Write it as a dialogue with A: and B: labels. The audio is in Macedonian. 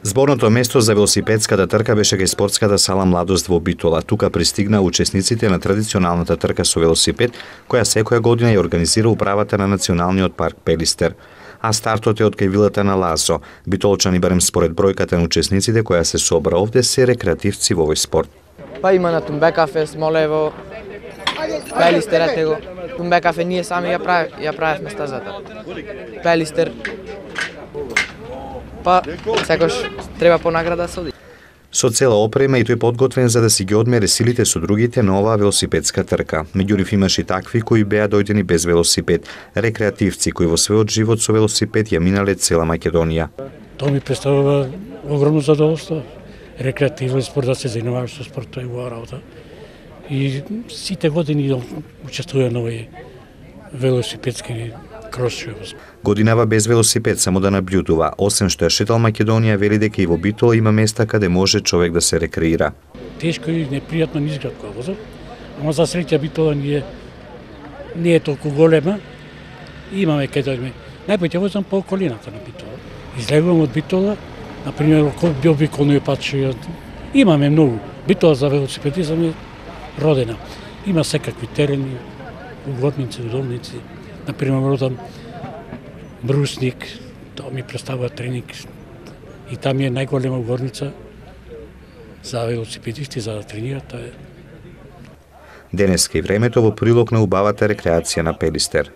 A: Зборното место за велосипедската трка беше кај спортската сала Младост во Битола. Тука пристигнаа учесниците на традиционалната трка со велосипед, која секоја година ја организира управата на Националниот парк Пелистер. А стартот е од кај вилата на Лазо. Битолчани, барем според бројката на учесниците која се собра овде, се рекреативци во овој спорт.
B: Па има на Тумбекафе, Смолево, Пелистер, ете го. Тумбекафе ние сами ја правевме стазата. Пелистер. Па секош треба понаграда се оди.
A: Со цела опрема и тој подготвен за да си ги одмере силите со другите на оваа велосипедска трка. Меѓу нив имаше и такви кои беа дојдени без велосипед, рекреативци кои во својот живот со велосипед ја минале цела Македонија.
C: Тоа ми представува огромно задоволство. Рекреативен спорт, да се занимаваш со спорт, тоа е убава работа. И сите години учествувам на овој велосипедски крос.
A: Годинава без велосипед само да наблюдува, освен што ја шетал Македонија, вели дека и во Битола има места каде може човек да се рекреира.
C: Тешко и непријатно низград која возам, ама за среќа Битола не е толку голема. Имаме кај да најпоќе возам по околината на Битола. Излегувам од Битола, например, би обиколниот пат што имаме многу. Битола за велосипедизам е родена. Има секакви терени, угодници, удобници. Например, родам Брусник, тоа ми представува тренинг и там е најголема угодница за велосипедисти за да тренираат.
A: Денеска и времето во прилог на убавата рекреација на Пелистер.